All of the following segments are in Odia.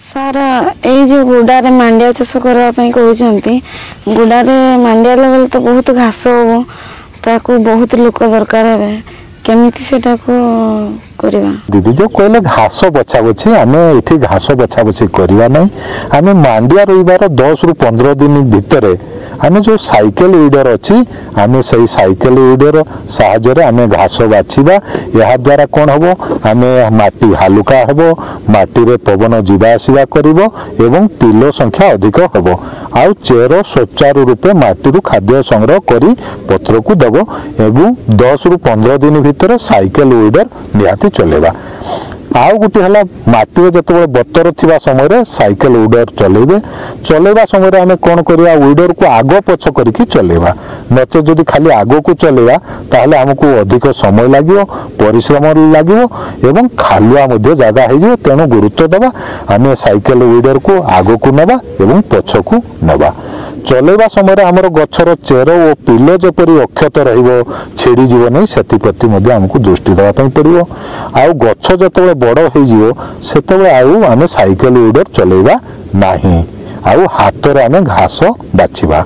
ସାର୍, ଏଇ ଯେଉଁ ଗୁଡ଼ାରେ ମାଣ୍ଡିଆ ଚାଷ କରିବା ପାଇଁ କହୁଛନ୍ତି, ଗୁଡ଼ାରେ ମାଣ୍ଡିଆ ଲଗେଇଲେ ତ ବହୁତ ଘାସ ହେବ, ତାକୁ ବହୁତ ଲୋକ ଦରକାର ହେବେ, କେମିତି ସେଟାକୁ କରିବା? ଦିଦି ଯେଉଁ କହିଲେ ଘାସ ବଛାବଛି, ଆମେ ଏଠି ଘାସ ବଛାବଛି କରିବା ନାହିଁ। ଆମେ ମାଣ୍ଡିଆ ରୋଇବାର 10ରୁ 15 ଦିନ ଭିତରେ ଆମେ ଯେଉଁ ସାଇକେଲ ୱିଡର ଅଛି, ଆମେ ସେଇ ସାଇକେଲ ୱିଡର ସାହାଯ୍ୟରେ ଆମେ ଘାସ ବାଛିବା। ଏହାଦ୍ୱାରା କ'ଣ ହେବ? ଆମେ ମାଟି ହାଲୁକା ହେବ, ମାଟିରେ ପବନ ଯିବା ଆସିବା କରିବ ଏବଂ ପିଲ ସଂଖ୍ୟା ଅଧିକ ହେବ, ଆଉ ଚେର ସୁଚାରୁ ରୂପେ ମାଟିରୁ ଖାଦ୍ୟ ସଂଗ୍ରହ କରି ପତ୍ରକୁ ଦେବ। ଏବଂ 10ରୁ 15 ଦିନ ଭିତରେ ସାଇକେଲ ୱିଡର ନିହାତି ଚଲେଇବା। ଆଉ ଗୋଟିଏ ହେଲା, ମାଟିରେ ଯେତେବେଳେ ବତର ଥିବା ସମୟରେ ସାଇକେଲ ୱିଡର ଚଲେଇବେ। ଚଲେଇବା ସମୟରେ ଆମେ କ'ଣ କରିବା? ୱିଡରକୁ ଆଗ ପଛ କରିକି ଚଲେଇବା। ନଚେତ୍ ଯଦି ଖାଲି ଆଗକୁ ଚଲେଇବା, ତାହେଲେ ଆମକୁ ଅଧିକ ସମୟ ଲାଗିବ, ପରିଶ୍ରମ ଲାଗିବ ଏବଂ ଖାଲୁଆ ମଧ୍ୟ ଜାଗା ହେଇଯିବ। ତେଣୁ ଗୁରୁତ୍ୱ ଦେବା, ଆମେ ସାଇକେଲ ୱିଡରକୁ ଆଗକୁ ନେବା ଏବଂ ପଛକୁ ନେବା। ଚଲେଇବା ସମୟରେ ଆମର ଗଛର ଚେର ଓ ପିଲ ଯେପରି ଅକ୍ଷତ ରହିବ, ଛିଡ଼ିଯିବ ନାହିଁ, ସେଥିପ୍ରତି ମଧ୍ୟ ଆମକୁ ଦୃଷ୍ଟି ଦେବା ପାଇଁ ପଡ଼ିବ। ଆଉ ଗଛ ଯେତେବେଳେ ବଡ଼ ହେଇଯିବ, ସେତେବେଳେ ଆଉ ଆମେ ସାଇକେଲ ୱିଡର ଚଲେଇବା ନାହିଁ, ଆଉ ହାତରେ ଆମେ ଘାସ ବାଛିବା।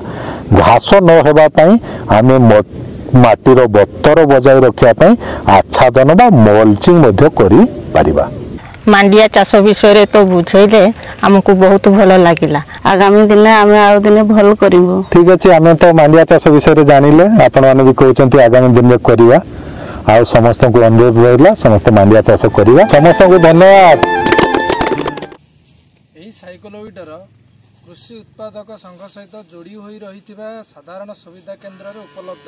ଘାସ ନ ହେବା ପାଇଁ ଆମେ ମାଟିର ବତର ବଜାୟ ରଖିବା ପାଇଁ ଆଚ୍ଛାଦନ ବା ମଲଚିଂ ମଧ୍ୟ କରିପାରିବା। ମାଣ୍ଡିଆ ଚାଷ ବିଷୟରେ ତ ବୁଝେଇଲେ, ଆମକୁ ବହୁତ ଭଲ ଲାଗିଲା। ଆଗାମୀ ଦିନେ ଆମେ ଆଉ ଦିନେ ଭଲ କରିବୁ। ଠିକ ଅଛି, ଆମେ ତ ମାଣ୍ଡିଆ ଚାଷ ବିଷୟରେ ଜାଣିଲେ, ଆପଣମାନେ ବି କହୁଛନ୍ତି ଆଗାମୀ ଦିନରେ କରିବା। ଆଉ ସମସ୍ତଙ୍କୁ ଅନୁରୋଧ ରହିଲା, ସମସ୍ତେ ମାଣ୍ଡିଆ ଚାଷ କରିବା। ସମସ୍ତଙ୍କୁ ଧନ୍ୟବାଦ। ଏହି ସାଇକେଲ ୱିଡର କୃଷି ଉତ୍ପାଦକ ସଂଘ ସହିତ ଯୋଡ଼ି ହୋଇ ରହିଥିବା ସାଧାରଣ ସୁବିଧା କେନ୍ଦ୍ରରେ ଉପଲବ୍ଧ।